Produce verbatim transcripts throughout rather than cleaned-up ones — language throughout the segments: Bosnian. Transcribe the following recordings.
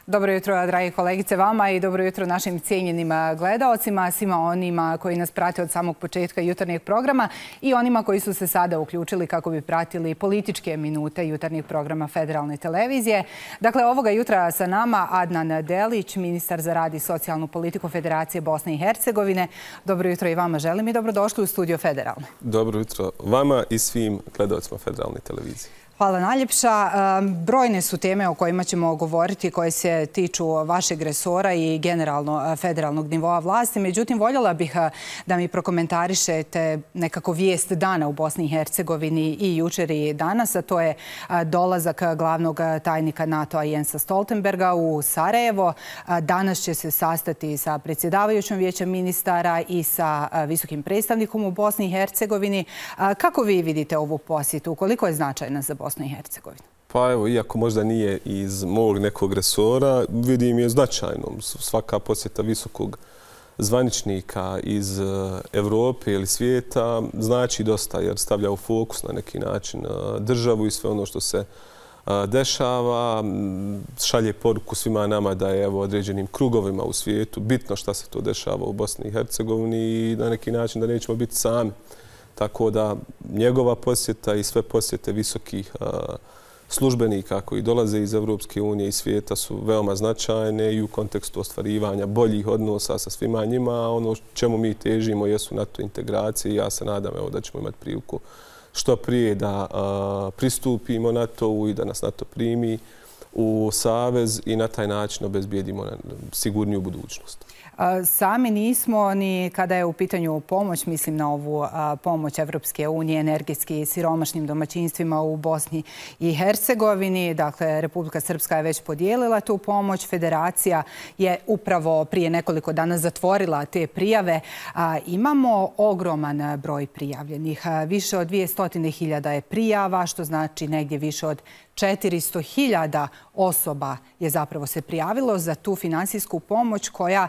Dobro jutro, dragi kolegice, vama i dobro jutro našim cijenjenim gledaocima, svima onima koji nas prate od samog početka jutarnjeg programa i onima koji su se sada uključili kako bi pratili političke minute jutarnjeg programa Federalne televizije. Dakle, ovoga jutra sa nama Adnan Delić, ministar za rad i socijalnu politiku Federacije Bosne i Hercegovine. Dobro jutro i vama želim i dobrodošli u studio Federalne. Dobro jutro vama i svim gledaocima Federalne televizije. Hvala najljepša. Brojne su teme o kojima ćemo govoriti koje se tiču vašeg resora i generalno federalnog nivoa vlasti. Međutim, voljela bih da mi prokomentarišete nekako vijest dana u Bosni i Hercegovini i jučer i danas, a to je dolazak glavnog tajnika NATO-a Jensa Stoltenberga u Sarajevo. Danas će se sastati sa predsjedavajućom vijećem ministara i sa visokim predstavnikom u Bosni i Hercegovini. Kako vi vidite ovu posjetu? Koliko je značajna za Bosnu i Hercegovinu? Pa evo, iako možda nije iz mog nekog resora, vidim je značajnom. Svaka posjeta visokog zvaničnika iz Evrope ili svijeta znači dosta jer stavlja u fokus na neki način državu i sve ono što se dešava. Šalje poruku svima nama da je evo određenim krugovima u svijetu bitno šta se to dešava u Bosni i Hercegovini i na neki način da nećemo biti sami. Tako da njegova posjeta i sve posjete visokih službenika koji dolaze iz Evropske unije i svijeta su veoma značajne i u kontekstu ostvarivanja boljih odnosa sa svima njima. Ono čemu mi težimo jesu NATO integracije i ja se nadam evo, da ćemo imati priliku što prije da pristupimo NATO-u i da nas NATO primi u savez i na taj način obezbijedimo sigurniju budućnost. Sami nismo ni kada je u pitanju pomoć, mislim na ovu pomoć Evropske unije energetski siromašnim domaćinstvima u Bosni i Hercegovini. Dakle, Republika Srpska je već podijelila tu pomoć. Federacija je upravo prije nekoliko dana zatvorila te prijave. Imamo ogroman broj prijavljenih. Više od dvjesto hiljada je prijava, što znači negdje više od četiristo hiljada osoba je zapravo se prijavilo za tu finansijsku pomoć koja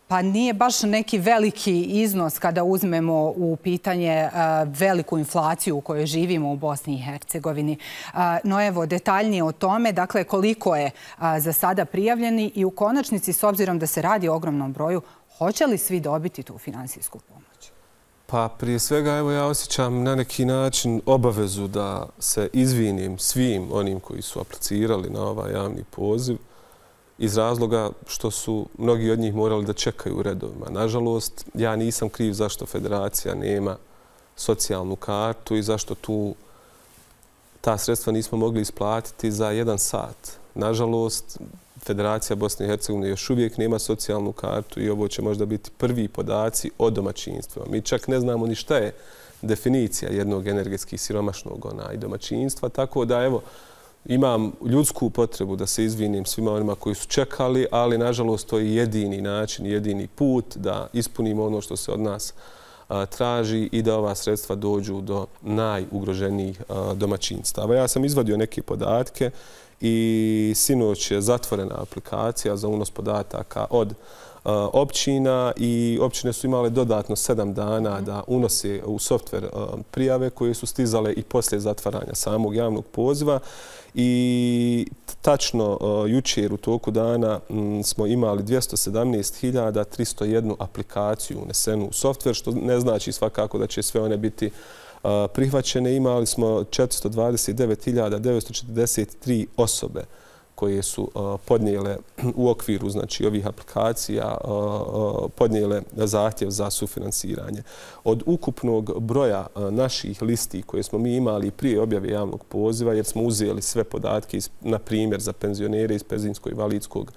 pa nije baš neki veliki iznos kada uzmemo u pitanje veliku inflaciju u kojoj živimo u Bosni i Hercegovini. No evo, detaljnije o tome, dakle, koliko je za sada prijavljeni i u konačnici, s obzirom da se radi o ogromnom broju, hoće li svi dobiti tu finansijsku pomoć? Pa prije svega, evo ja osjećam na neki način obavezu da se izvinim svim onim koji su aplicirali na ovaj javni poziv iz razloga što su mnogi od njih morali da čekaju u redovima. Nažalost, ja nisam kriv zašto Federacija nema socijalnu kartu i zašto tu ta sredstva nismo mogli isplatiti za jedan sat. Nažalost, Federacija Bosne i Hercegovine još uvijek nema socijalnu kartu i ovo će možda biti prvi podaci o domaćinstvima. Mi čak ne znamo ni šta je definicija jednog energetski siromašnog ona i domaćinstva, tako da evo, imam ljudsku potrebu da se izvinim svima onima koji su čekali, ali nažalost to je jedini način, jedini put da ispunimo ono što se od nas a, traži i da ova sredstva dođu do najugroženijih a, domaćinstava. Ja sam izvadio neke podatke i sinoć je zatvorena aplikacija za unos podataka od a, općina i općine su imale dodatno sedam dana da unose u softver a, prijave koje su stizale i poslije zatvaranja samog javnog poziva. I tačno jučer u toku dana smo imali dvjesto sedamnaest hiljada tristo jednu aplikaciju unesenu u softver, što ne znači svakako da će sve one biti prihvaćene. Imali smo četiristo dvadeset devet hiljada devetsto četrdeset tri osobe koje su podnijele u okviru znači ovih aplikacija podnijele zahtjev za sufinansiranje. Od ukupnog broja naših listi koje smo mi imali prije objave javnog poziva, jer smo uzeli sve podatke, na primjer za penzionere iz penzijsko-invalidskog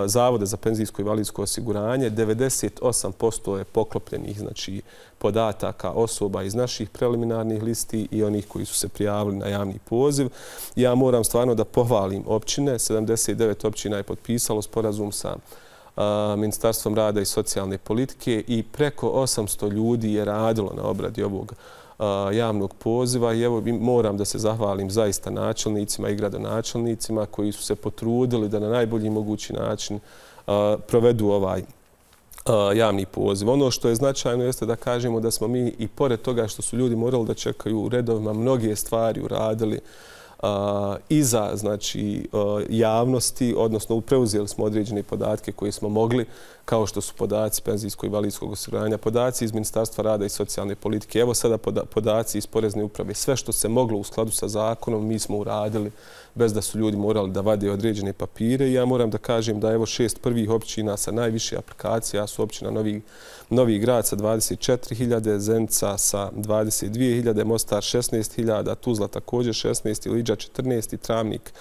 Zavoda za penzijsko i invalidsko osiguranje, devedeset osam posto je poklopljenih znači, podataka osoba iz naših preliminarnih listi i onih koji su se prijavili na javni poziv. Ja moram stvarno da pohvalim općine. sedamdeset devet općina je potpisalo sporazum sa Ministarstvom rada i socijalne politike i preko osamsto ljudi je radilo na obradi ovog javnog poziva i evo moram da se zahvalim zaista načelnicima i gradonačelnicima koji su se potrudili da na najbolji mogući način provedu ovaj javni poziv. Ono što je značajno jeste da kažemo da smo mi i pored toga što su ljudi morali da čekaju u redovima mnoge stvari uradili iza znači, javnosti, odnosno preuzeli smo određene podatke koje smo mogli, kao što su podaci penzijsko-invalidskog osiguranja, podaci iz Ministarstva rada i socijalne politike, evo sada podaci iz Porezne uprave. Sve što se moglo u skladu sa zakonom mi smo uradili bez da su ljudi morali da vade određene papire. I ja moram da kažem da evo šest prvih općina sa najviše aplikacija su općina Novi, Novi Grad sa dvadeset četiri hiljade, Zenica sa dvadeset dvije hiljade, Mostar šesnaest hiljada, Tuzla također šesnaest, Iliđa četrnaest i Travnik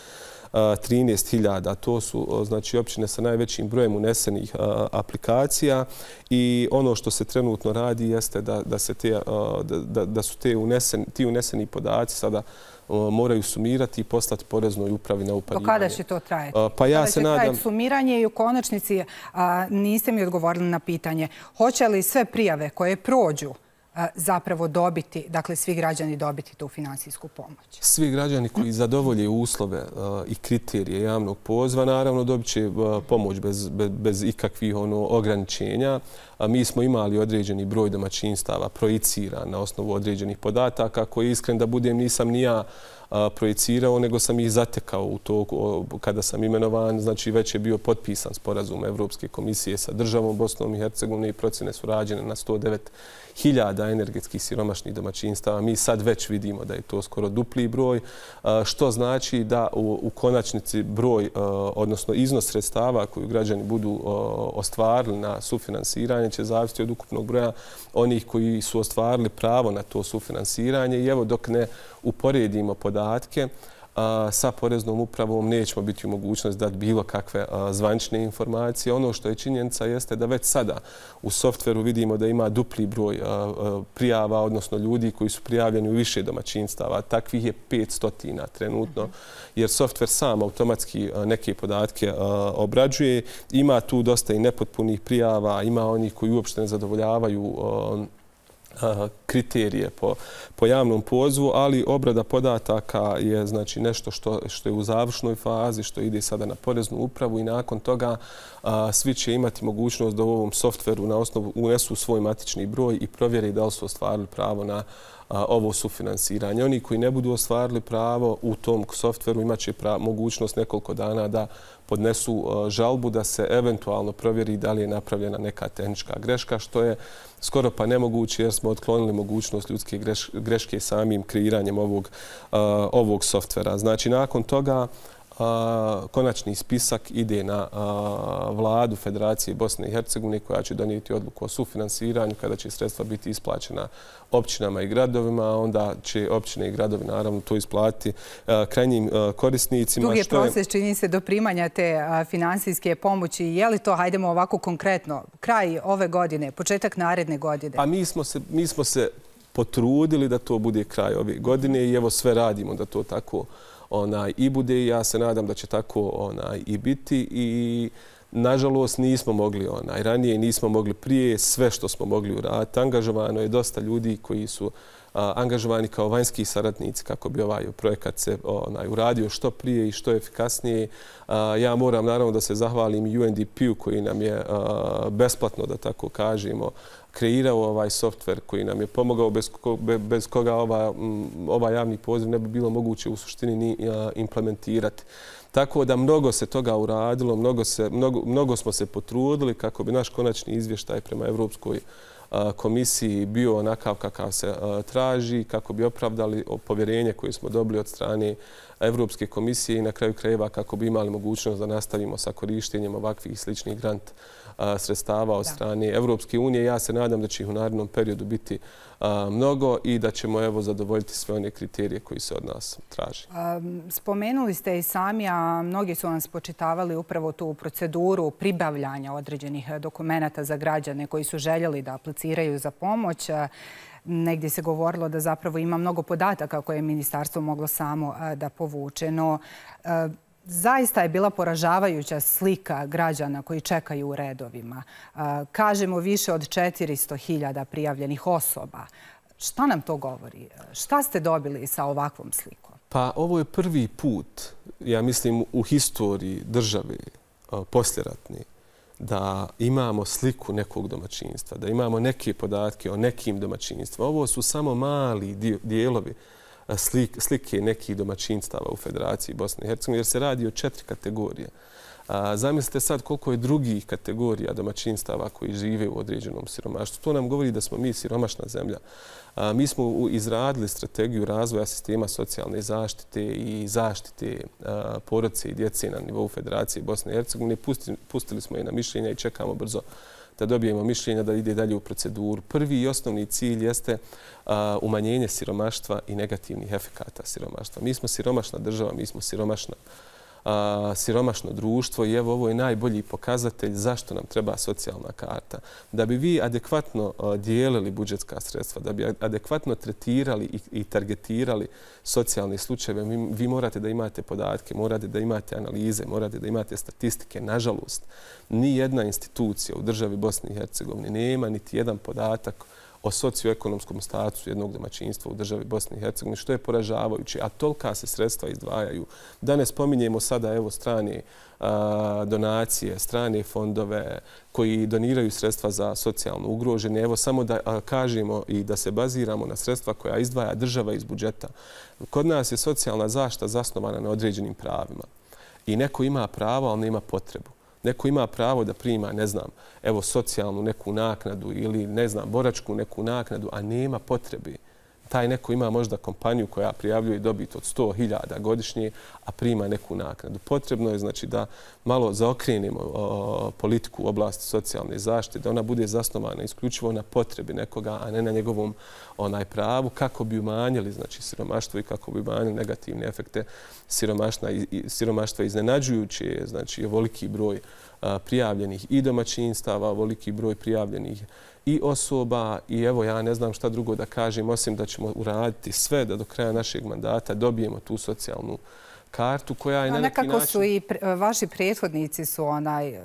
trinaest hiljada. To su znači općine sa najvećim brojem unesenih aplikacija i ono što se trenutno radi jeste da, da, se te, da, da su te unesen, ti uneseni podaci sada moraju sumirati i poslati Poreznoj upravi na uparivanje. Do kada će to trajati? Pa ja kada se će nadam... trajati sumiranje i u konačnici a, niste mi odgovorili na pitanje. Hoće li sve prijave koje prođu zapravo dobiti, dakle svi građani dobiti tu finansijsku pomoć? Svi građani koji zadovolje uslove i kriterije javnog poziva, naravno dobit će pomoć bez, bez, bez ikakvih ono, ograničenja. Mi smo imali određeni broj domaćinstava projiciran na osnovu određenih podataka, koji iskren da budem nisam ni ja projicirao, nego sam ih zatekao u to kada sam imenovan. Znači već je bio potpisan sporazum Evropske komisije sa državom Bosnom i Hercegovinom i procjene su rađene na sto devet hiljada energetskih siromašnih domaćinstava. Mi sad već vidimo da je to skoro dupli broj, što znači da u, u konačnici broj, odnosno iznos sredstava koju građani budu ostvarili na sufinansiranje će zavisiti od ukupnog broja onih koji su ostvarili pravo na to sufinansiranje. I evo dok ne uporedimo podatke sa Poreznom upravom nećemo biti u mogućnosti dati bilo kakve zvanične informacije. Ono što je činjenica jeste da već sada u softveru vidimo da ima dupli broj prijava, odnosno ljudi koji su prijavljeni u više domaćinstava. Takvih je petsto trenutno, jer softver sam automatski neke podatke obrađuje. Ima tu dosta i nepotpunih prijava, ima onih koji uopšte ne zadovoljavaju kriterije po, po javnom pozivu, ali obrada podataka je znači nešto što, što je u završnoj fazi, što ide sada na Poreznu upravu i nakon toga a, svi će imati mogućnost da u ovom softveru na osnovu unesu svoj matični broj i provjeri da li su ostvarili pravo na a, ovo sufinansiranje. Oni koji ne budu ostvarili pravo u tom softveru imat će pra, mogućnost nekoliko dana da podnesu a, žalbu da se eventualno provjeri da li je napravljena neka tehnička greška, što je skoro pa nemoguće jer smo otklonili mogućnost ljudske greš, greške samim kreiranjem ovog, uh, ovog softvera. Znači, nakon toga uh, konačni spisak ide na uh, vladu Federacije Bosne i Hercegovine koja će donijeti odluku o sufinansiranju kada će sredstva biti isplaćena općinama i gradovima, onda će općine i gradovi naravno to isplatiti uh, krajnjim uh, korisnicima. Dug je proces, čini se, do primanja te uh, finansijske pomoći. Je li to, hajdemo ovako konkretno, kraj ove godine, početak naredne godine? A mi smo se, mi smo se potrudili da to bude kraj ove godine i evo sve radimo da to tako onaj, i bude i ja se nadam da će tako onaj, i biti i nažalost nismo mogli onaj, ranije nismo mogli prije sve što smo mogli uraditi. Angažovano je dosta ljudi koji su a, angažovani kao vanjski saradnici kako bi ovaj projekat se onaj, uradio što prije i što efikasnije. A, ja moram naravno da se zahvalim U N D P-u koji nam je a, besplatno, da tako kažemo, kreirao ovaj softver koji nam je pomogao, bez, ko, bez koga ova, ovaj javni poziv ne bi bilo moguće u suštini ni implementirati. Tako da mnogo se toga uradilo, mnogo, se, mnogo, mnogo smo se potrudili kako bi naš konačni izvještaj prema Evropskoj komisiji bio onakav kakav se traži, kako bi opravdali povjerenje koje smo dobili od strane Evropske komisije i na kraju krajeva kako bi imali mogućnost da nastavimo sa korištenjem ovakvih sličnih grant sredstava od strane Evropske unije. Ja se nadam da će ih u narednom periodu biti mnogo i da ćemo evo zadovoljiti sve one kriterije koji se od nas traži. Spomenuli ste i sami, a mnogi su vam spočitavali upravo tu proceduru pribavljanja određenih dokumenta za građane koji su željeli da apliciraju za pomoć. Negdje se govorilo da zapravo ima mnogo podataka koje je ministarstvo moglo samo da povuče. No, zaista je bila poražavajuća slika građana koji čekaju u redovima. Kažemo više od četiristo hiljada prijavljenih osoba. Šta nam to govori? Šta ste dobili sa ovakvom slikom? Pa ovo je prvi put, ja mislim, u historiji države posljeratne da imamo sliku nekog domaćinstva, da imamo neke podatke o nekim domaćinstvima. Ovo su samo mali dijelovi slike nekih domaćinstava u Federaciji Bosne i Hercegovine, jer se radi o četiri kategorije. Zamislite sad koliko je drugih kategorija domaćinstava koji žive u određenom siromaštvu. To nam govori da smo mi siromašna zemlja. Mi smo izradili strategiju razvoja sistema socijalne zaštite i zaštite porodice i djece na nivou Federacije Bosne i Hercegovine. Pustili smo je na mišljenja i čekamo brzo da dobijemo mišljenja da ide dalje u proceduru. Prvi i osnovni cilj jeste umanjenje siromaštva i negativnih efekata siromaštva. Mi smo siromašna država, mi smo siromašna siromašno društvo i evo ovo je najbolji pokazatelj zašto nam treba socijalna karta. Da bi vi adekvatno dijelili budžetska sredstva, da bi adekvatno tretirali i targetirali socijalne slučajeve, vi morate da imate podatke, morate da imate analize, morate da imate statistike. Nažalost, ni jedna institucija u državi Bosne i Hercegovine nema niti jedan podatak o socioekonomskom statusu jednog domaćinstva u državi Bosne i Hercegovine, što je poražavajuće, a tolika se sredstva izdvajaju. Da ne spominjemo sada evo strane donacije, strane fondove koji doniraju sredstva za socijalno ugrožene. Evo samo da kažemo i da se baziramo na sredstva koja izdvaja država iz budžeta. Kod nas je socijalna zaštita zasnovana na određenim pravima i neko ima pravo, ali nema potrebu. Neko ima pravo da prima, ne znam, evo socijalnu neku naknadu ili, ne znam, boračku neku naknadu, a nema potrebe. Taj neko ima možda kompaniju koja prijavljuje dobit od sto hiljada godišnje, a prima neku naknadu. Potrebno je znači da malo zaokrenemo politiku u oblasti socijalne zaštite, da ona bude zasnovana isključivo na potrebi nekoga, a ne na njegovom onaj pravu, kako bi umanjili znači siromaštvo i kako bi umanjili negativne efekte siromaštva. Iznenađujuće je znači ovoliki broj prijavljenih i domaćinstava, ovoliki broj prijavljenih i osoba i evo ja ne znam šta drugo da kažem osim da ćemo uraditi sve da do kraja našeg mandata dobijemo tu socijalnu kartu koja je na neki način... Nekako su i vaši prethodnici su onaj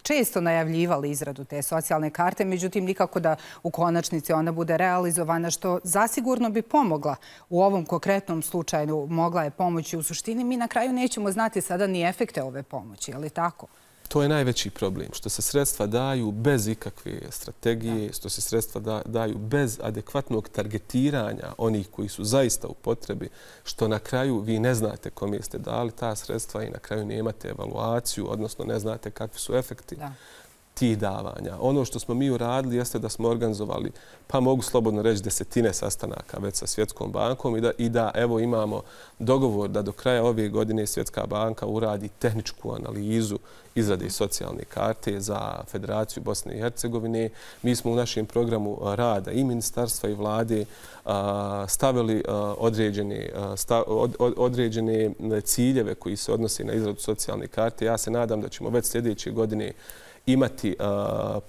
često najavljivali izradu te socijalne karte, međutim nikako da u konačnici ona bude realizovana, što zasigurno bi pomogla u ovom konkretnom slučaju, mogla je pomoći. U suštini mi na kraju nećemo znati sada ni efekte ove pomoći, je li tako? To je najveći problem, što se sredstva daju bez ikakve strategije, što se sredstva daju bez adekvatnog targetiranja onih koji su zaista u potrebi, što na kraju vi ne znate kome ste dali ta sredstva i na kraju nemate evaluaciju, odnosno ne znate kakvi su efekti tih davanja. Ono što smo mi uradili jeste da smo organizovali, pa mogu slobodno reći, desetine sastanaka već sa Svjetskom bankom i da, i da evo imamo dogovor da do kraja ove godine Svjetska banka uradi tehničku analizu izrade socijalne karte za Federaciju Bosne i Hercegovine. Mi smo u našem programu rada i ministarstva i vlade stavili određene, određene ciljeve koji se odnose na izradu socijalne karte. Ja se nadam da ćemo već sljedeće godine imati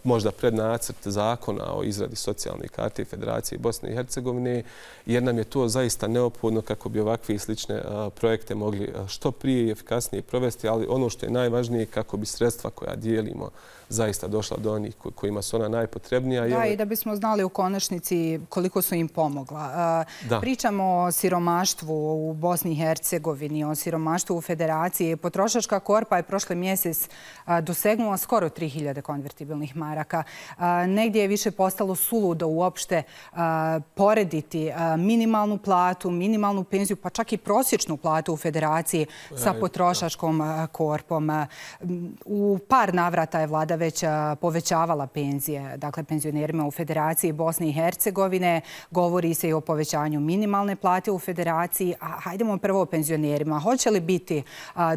možda prednacrt zakona o izradi socijalne karte Federacije Bosne i Hercegovine, jer nam je to zaista neophodno kako bi ovakve i slične projekte mogli što prije i efikasnije provesti, ali ono što je najvažnije kako bi sredstva koja dijelimo zaista došla do onih kojima su ona najpotrebnija. Da, i da bismo znali u konačnici koliko su im pomogla. Pričamo o siromaštvu u Bosni i Hercegovini, o siromaštvu u Federaciji. Potrošačka korpa je prošle mjesec dosegnula skoro tri hiljade konvertibilnih maraka. Negdje je više postalo suludo uopšte porediti minimalnu platu, minimalnu penziju, pa čak i prosječnu platu u Federaciji sa potrošačkom korpom. U par navrata je vlada već povećavala penzije, dakle penzionerima u Federaciji Bosne i Hercegovine. Govori se i o povećanju minimalne plate u Federaciji. A hajdemo prvo o penzionerima. Hoće li biti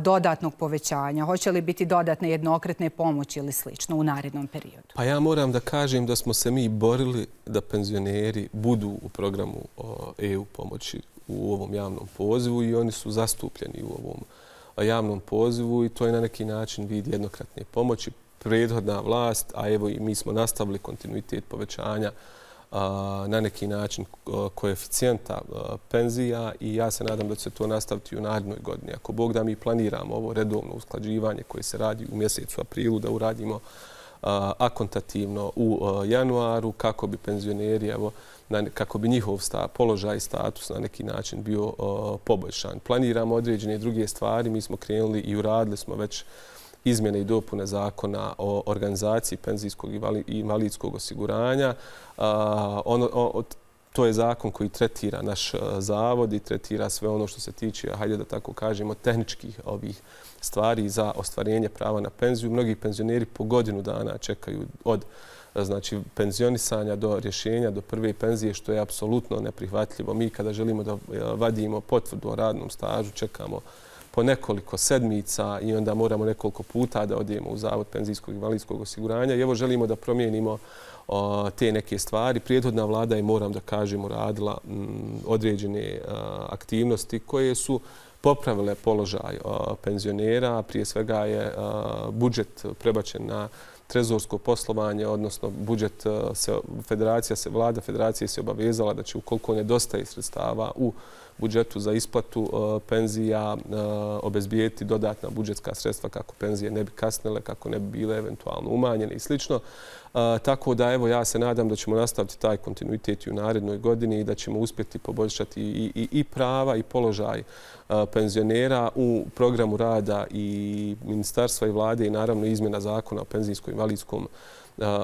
dodatnog povećanja? Hoće li biti dodatne jednokratne pomoći ili slično u narednom periodu? Pa ja moram da kažem da smo se mi borili da penzioneri budu u programu E U pomoći u ovom javnom pozivu i oni su zastupljeni u ovom javnom pozivu i to je na neki način vid jednokratne pomoći. Prethodna vlast, a evo i mi smo nastavili kontinuitet povećanja na neki način koeficijenta penzija i ja se nadam da će se to nastaviti u narednoj godini. Ako Bog da mi planiramo ovo redovno usklađivanje koje se radi u mjesecu aprilu, da uradimo akontativno u januaru kako bi penzioneri, evo, kako bi njihov položaj i status na neki način bio poboljšan. Planiramo određene druge stvari, mi smo krenuli i uradili smo već izmjene i dopune zakona o organizaciji penzijskog i invalidskog osiguranja. to je zakon koji tretira naš zavod i tretira sve ono što se tiče, hajde da tako kažemo, tehničkih ovih stvari za ostvarenje prava na penziju. Mnogi penzioneri po godinu dana čekaju od znači penzionisanja do rješenja, do prve penzije, što je apsolutno neprihvatljivo. Mi kada želimo da vadimo potvrdu o radnom stažu, čekamo po nekoliko sedmica i onda moramo nekoliko puta da odijemo u Zavod penzijskog i invalidskog osiguranja. I evo želimo da promijenimo o, te neke stvari. Prijethodna vlada je, moram da kažem, uradila m, određene a, aktivnosti koje su popravile položaj a, penzionera. Prije svega je a, budžet prebačen na trezorsko poslovanje, odnosno budžet se, federacija se, vlada federacije se obavezala da će ukoliko nedostaje sredstava u budžetu za isplatu penzija obezbijeti dodatna budžetska sredstva kako penzije ne bi kasnile, kako ne bi bile eventualno umanjene i slično. Tako da evo ja se nadam da ćemo nastaviti taj kontinuitet i u narednoj godini i da ćemo uspjeti poboljšati i, i, i prava i položaj penzionera u programu rada i ministarstva i vlade i naravno izmjena zakona o penzijskom i invalidskom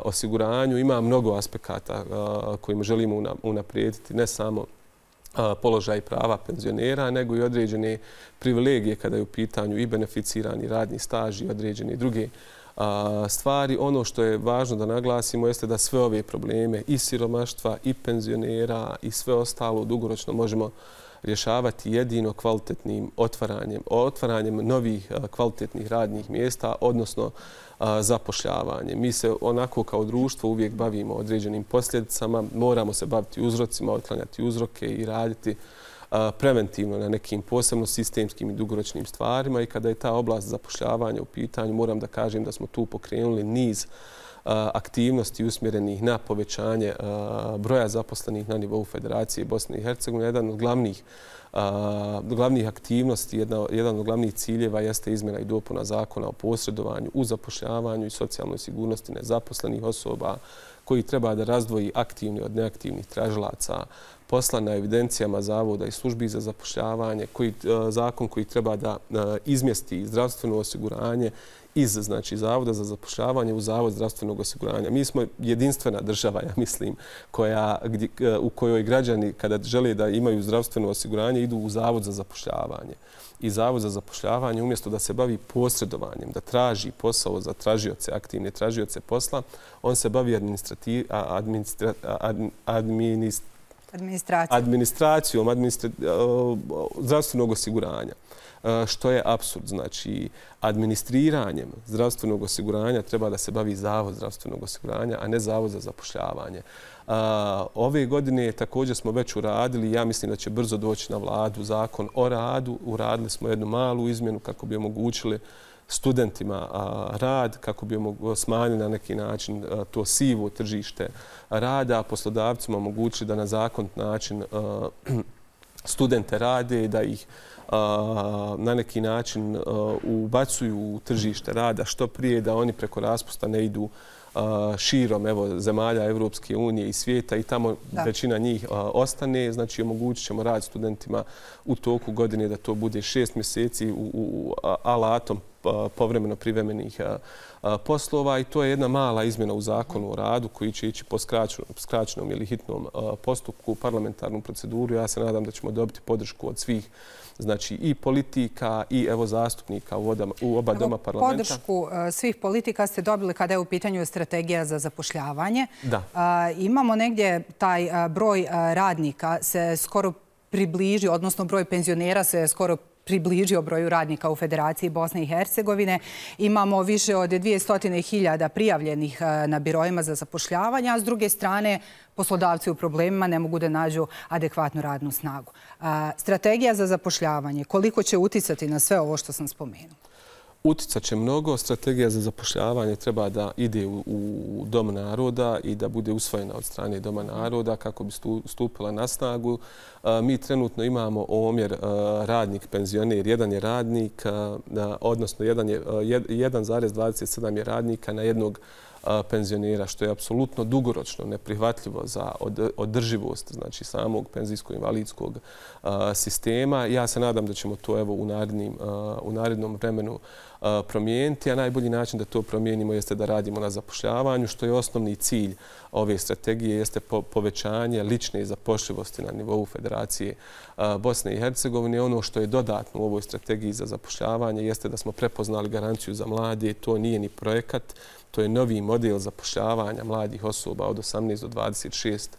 osiguranju. Ima mnogo aspekata kojima želimo unaprijediti ne samo položaj prava penzionera, nego i određene privilegije kada je u pitanju i beneficirani radni staž i određene druge stvari. Ono što je važno da naglasimo jeste da sve ove probleme i siromaštva i penzionera i sve ostalo dugoročno možemo rješavati jedino kvalitetnim otvaranjem, otvaranjem novih kvalitetnih radnih mjesta, odnosno zapošljavanje. Mi se onako kao društvo uvijek bavimo određenim posljedicama, moramo se baviti uzrocima, otklanjati uzroke i raditi preventivno na nekim posebno sistemskim i dugoročnim stvarima i kada je ta oblast zapošljavanja u pitanju, moram da kažem da smo tu pokrenuli niz aktivnosti usmjerenih na povećanje broja zaposlenih na nivou Federacije Bosne i Hercegovine. Jedan od glavnih, glavnih aktivnosti, jedna, jedan od glavnih ciljeva jeste izmjena i dopuna zakona o posredovanju u zapošljavanju i socijalnoj sigurnosti nezaposlenih osoba koji treba da razdvoji aktivni od neaktivnih tražilaca posla na evidencijama zavoda i službi za zapošljavanje, koji, zakon koji treba da izmjesti zdravstveno osiguranje iz znači, Zavoda za zapošljavanje u Zavod zdravstvenog osiguranja. Mi smo jedinstvena država, ja mislim, koja, gdje, u kojoj građani kada žele da imaju zdravstveno osiguranje idu u Zavod za zapošljavanje. I Zavod za zapošljavanje umjesto da se bavi posredovanjem, da traži posao za tražioce, aktivne tražioce posla, on se bavi administrati, administra, administ, administracijom, administracijom administra, zdravstvenog osiguranja. Što je apsurd. Znači, administriranjem zdravstvenog osiguranja treba da se bavi Zavod zdravstvenog osiguranja, a ne Zavod za zapošljavanje. Ove godine također smo već uradili, ja mislim da će brzo doći na vladu zakon o radu. Uradili smo jednu malu izmjenu kako bi omogućili studentima rad, kako bi smanjili na neki način to sivo tržište rada, a poslodavcima omogućili da na zakonit način studente rade i da ih na neki način ubacuju u tržište rada što prije, da oni preko raspusta ne idu širom evo, zemalja Evropske unije i svijeta i tamo da. većina njih ostane. Znači, omogućit ćemo rad studentima u toku godine da to bude šest mjeseci u, u alatom povremeno privremenih poslova i to je jedna mala izmjena u zakonu o radu koji će ići po skraćenom ili hitnom postupku u parlamentarnu proceduru. Ja se nadam da ćemo dobiti podršku od svih znači i politika i evo zastupnika u, odama, u oba evo, doma parlamenta. Podršku svih politika ste dobili kada je u pitanju strategija za zapošljavanje. Da. Imamo negdje taj broj radnika se skoro približi, odnosno broj penzionera se skoro približio broju radnika u Federaciji Bosne i Hercegovine. Imamo više od dvjesto hiljada prijavljenih na birojima za zapošljavanje, a s druge strane poslodavci u problemima ne mogu da nađu adekvatnu radnu snagu. Strategija za zapošljavanje, koliko će uticati na sve ovo što sam spomenuo? Uticat će mnogo. Strategija za zapošljavanje treba da ide u, u Dom naroda i da bude usvojena od strane Doma naroda kako bi stupila na snagu. Mi trenutno imamo omjer radnik penzioner. Jedan je radnik, odnosno jedan zarez dvadeset sedam je radnika na jednog penzionera, što je apsolutno dugoročno neprihvatljivo za održivost znači samog penzijsko-invalidskog sistema. Ja se nadam da ćemo to evo u narednim, u narednom vremenu promijeniti, a najbolji način da to promijenimo jeste da radimo na zapošljavanju, što je osnovni cilj ove strategije, jeste povećanje lične zapošljivosti na nivou Federacije Bosne i Hercegovine. Ono što je dodatno u ovoj strategiji za zapošljavanje jeste da smo prepoznali garanciju za mlade. To nije ni projekat, to je novi model zapošljavanja mladih osoba od osamnaest do dvadeset šest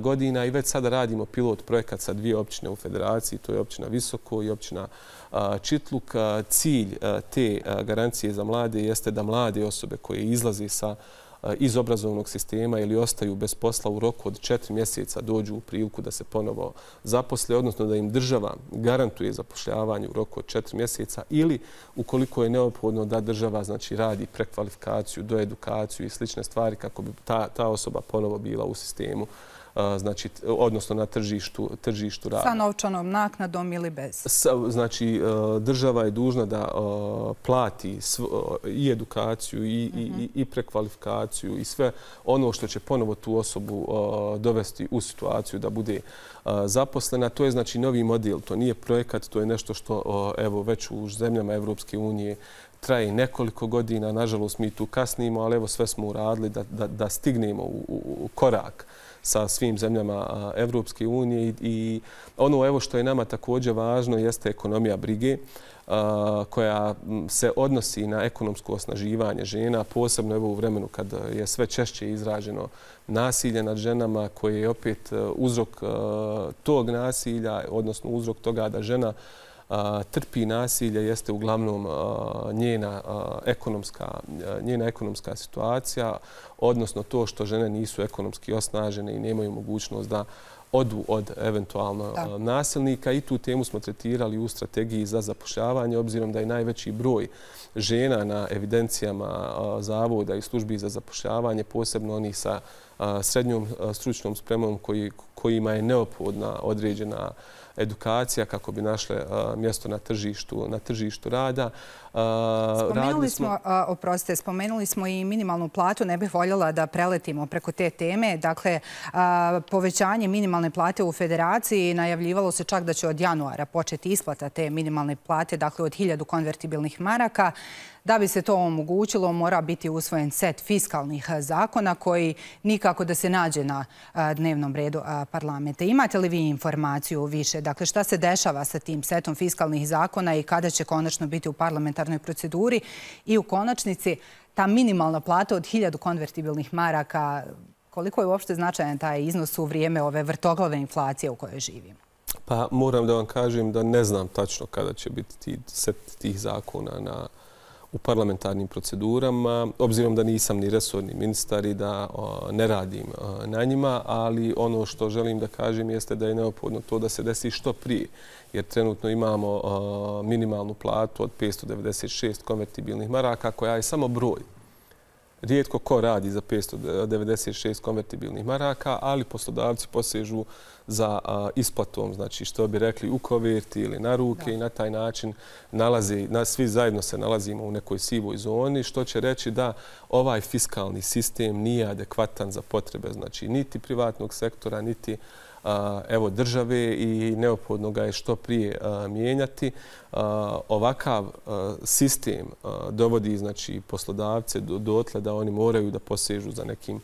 godina i već sada radimo pilot projekat sa dvije općine u Federaciji, to je općina Visoko i općina Čitluk. Cilj te garancije za mlade jeste da mlade osobe koje izlaze sa iz obrazovnog sistema ili ostaju bez posla u roku od četiri mjeseca dođu u priliku da se ponovo zaposle, odnosno da im država garantuje zapošljavanje u roku od četiri mjeseca ili ukoliko je neophodno da država znači radi prekvalifikaciju, doedukaciju i slične stvari kako bi ta, ta osoba ponovo bila u sistemu, znači, odnosno na tržištu, tržištu rada. Sa novčanom naknadom ili bez? Znači, država je dužna da plati i edukaciju i, i, i prekvalifikaciju i sve ono što će ponovo tu osobu dovesti u situaciju da bude zaposlena. To je znači novi model, to nije projekat, to je nešto što evo već u zemljama Evropske unije traje nekoliko godina. Nažalost, mi tu kasnimo, ali evo sve smo uradili da, da, da stignemo u, u, u korak sa svim zemljama Evropske unije i ono evo što je nama također važno jeste ekonomija brige koja se odnosi na ekonomsko osnaživanje žena, posebno evo u vremenu kad je sve češće izraženo nasilje nad ženama koje je opet uzrok tog nasilja, odnosno uzrok toga da žena trpi nasilje jeste uglavnom njena ekonomska, njena ekonomska situacija, odnosno to što žene nisu ekonomski osnažene i nemaju mogućnost da odu od eventualno da. nasilnika. I tu temu smo tretirali u strategiji za zapošljavanje, obzirom da je najveći broj žena na evidencijama zavoda i službi za zapošljavanje, posebno oni sa srednjom stručnom spremom koji, kojima je neophodna određena edukacija kako bi našle mjesto na tržištu, na tržištu rada. Spomenuli smo, oprostite, spomenuli smo i minimalnu platu. Ne bih voljela da preletimo preko te teme. Dakle, povećanje minimalne plate u Federaciji najavljivalo se čak da će od januara početi isplata te minimalne plate, dakle od hiljadu konvertibilnih maraka. Da bi se to omogućilo, mora biti usvojen set fiskalnih zakona koji nikako da se nađe na dnevnom redu parlamenta. Imate li vi informaciju više? Dakle, šta se dešava sa tim setom fiskalnih zakona i kada će konačno biti u parlamentarnoj proceduri? I u konačnici, ta minimalna plata od hiljadu konvertibilnih maraka, koliko je uopšte značajan taj iznos u vrijeme ove vrtoglave inflacije u kojoj živimo? Pa moram da vam kažem da ne znam tačno kada će biti ti, set tih zakona na u parlamentarnim procedurama, obzirom da nisam ni resorni ministar i da o, ne radim o, na njima, ali ono što želim da kažem jeste da je neophodno to da se desi što prije, jer trenutno imamo o, minimalnu platu od petsto devedeset šest konvertibilnih maraka, koja je samo broj. Rijetko ko radi za petsto devedeset šest konvertibilnih maraka, ali poslodavci posežu za a, isplatom, znači što bi rekli u koverti ili na ruke da. I na taj način nalazi, na, svi zajedno se nalazimo u nekoj sivoj zoni, što će reći da ovaj fiskalni sistem nije adekvatan za potrebe, znači niti privatnog sektora, niti evo države i neophodno ga je što prije mijenjati. Ovakav sistem dovodi znači poslodavce dotle da oni moraju da posežu za nekim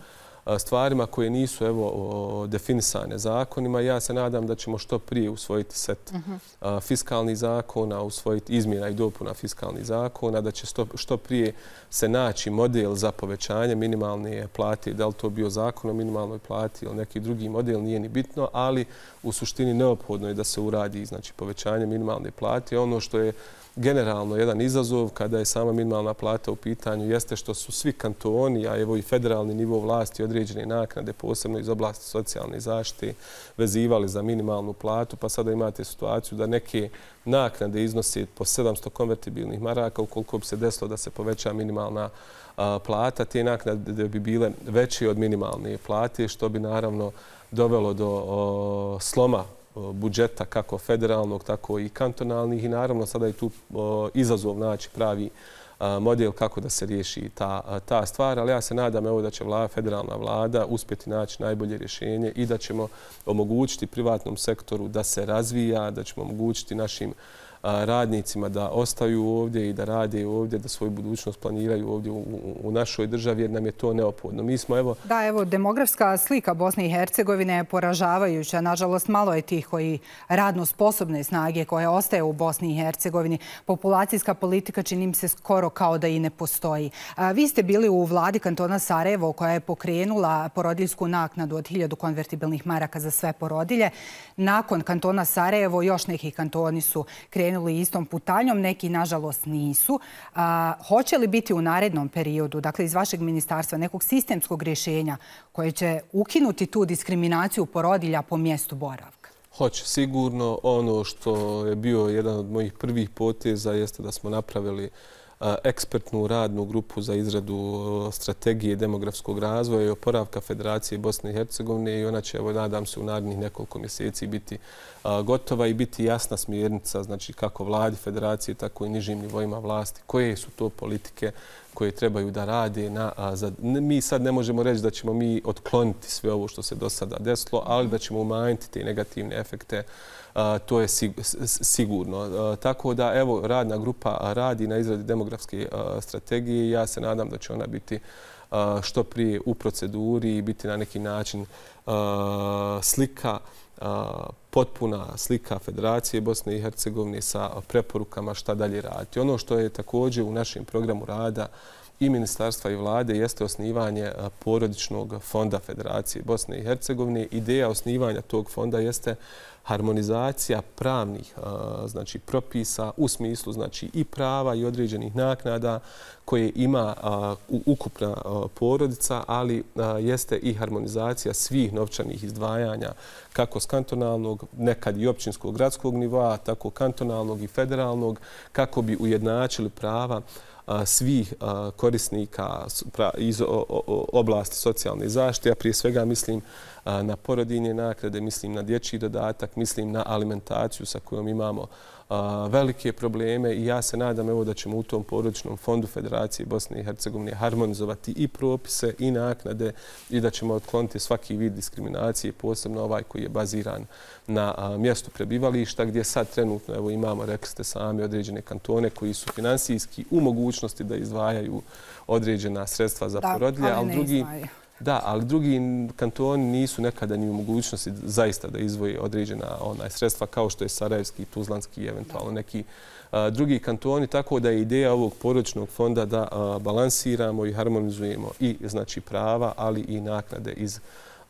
stvarima koje nisu evo definisane zakonima. Ja se nadam da ćemo što prije usvojiti set uh-huh. fiskalnih zakona, usvojiti izmjena i dopuna fiskalnih zakona, da će što prije se naći model za povećanje minimalne plate, da li to bio zakon o minimalnoj plati ili neki drugi model, nije ni bitno, ali u suštini neophodno je da se uradi znači povećanje minimalne plate. Ono što je generalno jedan izazov kada je sama minimalna plata u pitanju jeste što su svi kantoni, a evo i federalni nivo vlasti određene naknade, posebno iz oblasti socijalne zaštite, vezivali za minimalnu platu, pa sada imate situaciju da neke naknade iznose po sedamsto konvertibilnih maraka, ukoliko bi se desilo da se poveća minimalna plata, te naknade bi bile veće od minimalne plate, što bi naravno dovelo do sloma budžeta kako federalnog, tako i kantonalnih i naravno sada je tu izazov naći pravi model kako da se riješi ta, ta stvar, ali ja se nadam evo da će vlada, federalna vlada uspjeti naći najbolje rješenje i da ćemo omogućiti privatnom sektoru da se razvija, da ćemo omogućiti našim radnicima da ostaju ovdje i da rade ovdje, da svoju budućnost planiraju ovdje u našoj državi, jer nam je to neophodno. Mi smo, evo... Da, evo, demografska slika Bosne i Hercegovine je poražavajuća. Nažalost, malo je tih koji radno sposobne snage koje ostaje u Bosni i Hercegovini. Populacijska politika čini mi se skoro kao da i ne postoji. Vi ste bili u vladi kantona Sarajevo koja je pokrenula porodiljsku naknadu od hiljadu konvertibilnih maraka za sve porodilje. Nakon kantona Sarajevo još neki kantoni su krenuli istom putanjom, neki nažalost nisu. Hoće li biti u narednom periodu, dakle iz vašeg ministarstva, nekog sistemskog rješenja koje će ukinuti tu diskriminaciju porodilja po mjestu boravka? Hoće. Sigurno ono što je bio jedan od mojih prvih poteza jeste da smo napravili ekspertnu radnu grupu za izradu strategije demografskog razvoja i oporavka Federacije Bosne i Hercegovine i ona će, evo, nadam se, u narednih nekoliko mjeseci biti gotova i biti jasna smjernica, znači kako vladi Federacije, tako i nižim nivoima vlasti, koje su to politike koje trebaju da rade. Na, za, mi sad ne možemo reći da ćemo mi otkloniti sve ovo što se do sada desilo, ali da ćemo umanjiti te negativne efekte. Uh, to je sig sigurno. Uh, tako da, evo, radna grupa radi na izradi demografske uh, strategije i ja se nadam da će ona biti uh, što prije u proceduri i biti na neki način uh, slika, uh, potpuna slika Federacije Bosne i Hercegovine sa preporukama šta dalje raditi. Ono što je također u našem programu rada i ministarstva i vlade jeste osnivanje porodičnog fonda Federacije Bosne i Hercegovine. Ideja osnivanja tog fonda jeste harmonizacija pravnih, znači, propisa u smislu, znači, i prava i određenih naknada koje ima ukupna porodica, ali jeste i harmonizacija svih novčanih izdvajanja kako s kantonalnog, nekad i općinskog gradskog nivoa, tako kantonalnog i federalnog, kako bi ujednačili prava svih korisnika iz oblasti socijalne zaštite. Ja prije svega mislim na porodiljne naknade, mislim na dječji dodatak, mislim na alimentaciju sa kojom imamo velike probleme i ja se nadam, evo, da ćemo u tom porodičnom fondu Federacije Bosne i Hercegovine harmonizovati i propise i naknade i da ćemo otkloniti svaki vid diskriminacije, posebno ovaj koji je baziran na mjestu prebivališta, gdje sad trenutno, evo, imamo, rekli ste sami, određene kantone koji su finansijski u mogućnosti da izdvajaju određena sredstva za porodilje, ali drugi... Da, ali drugi kantoni nisu nekada ni u mogućnosti zaista da izdvoje određena onaj sredstva kao što je Sarajevski, Tuzlanski i eventualno neki a, drugi kantoni. Tako da je ideja ovog porodičnog fonda da a, balansiramo i harmonizujemo i, znači, prava, ali i naknade iz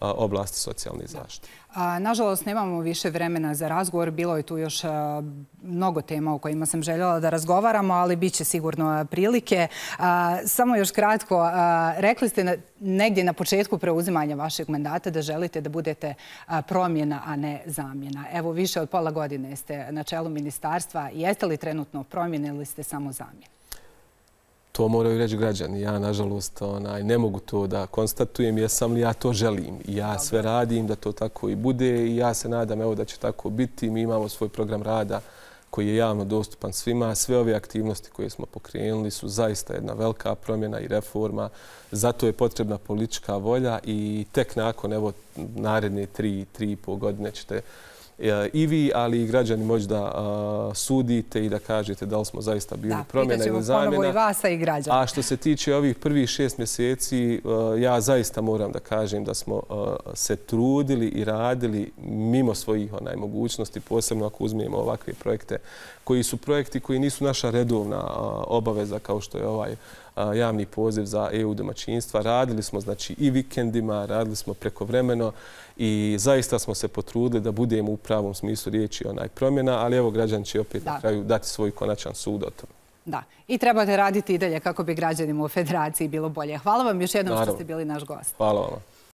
a, oblasti socijalne zaštite. A, nažalost, nemamo više vremena za razgovor. Bilo je tu još a, mnogo tema o kojima sam željela da razgovaramo, ali bit će sigurno prilike. A, samo još kratko, a, rekli ste na, negdje na početku preuzimanja vašeg mandata da želite da budete a, promjena, a ne zamjena. Evo, više od pola godine ste na čelu ministarstva. Jeste li trenutno promjene ili ste samo zamjena? To moraju reći građani. Ja, nažalost, onaj, ne mogu to da konstatujem jesam li ja to želim. Ja sve radim da to tako i bude i ja se nadam, evo, da će tako biti. Mi imamo svoj program rada koji je javno dostupan svima. Sve ove aktivnosti koje smo pokrenuli su zaista jedna velika promjena i reforma. Zato je potrebna politička volja i tek nakon, evo, naredne tri, tri i pol godine ćete i vi, ali i građani moći da sudite i da kažete da li smo zaista bili promjena ili zamjena. Da, pitaćemo ponovo i vas, a i građani. A što se tiče ovih prvih šest mjeseci, ja zaista moram da kažem da smo se trudili i radili mimo svojih onaj mogućnosti, posebno ako uzmijemo ovakve projekte koji su projekti koji nisu naša redovna obaveza kao što je ovaj javni poziv za E U domaćinstva. Radili smo, znači, i vikendima, radili smo prekovremeno i zaista smo se potrudili da budemo u pravom smislu riječi onaj promjena, ali evo, građani će opet na kraju dati svoj konačan sud o tome. Da, i trebate raditi i dalje kako bi građanima u Federaciji bilo bolje. Hvala vam još jednom što ste bili naš gost. Hvala vam.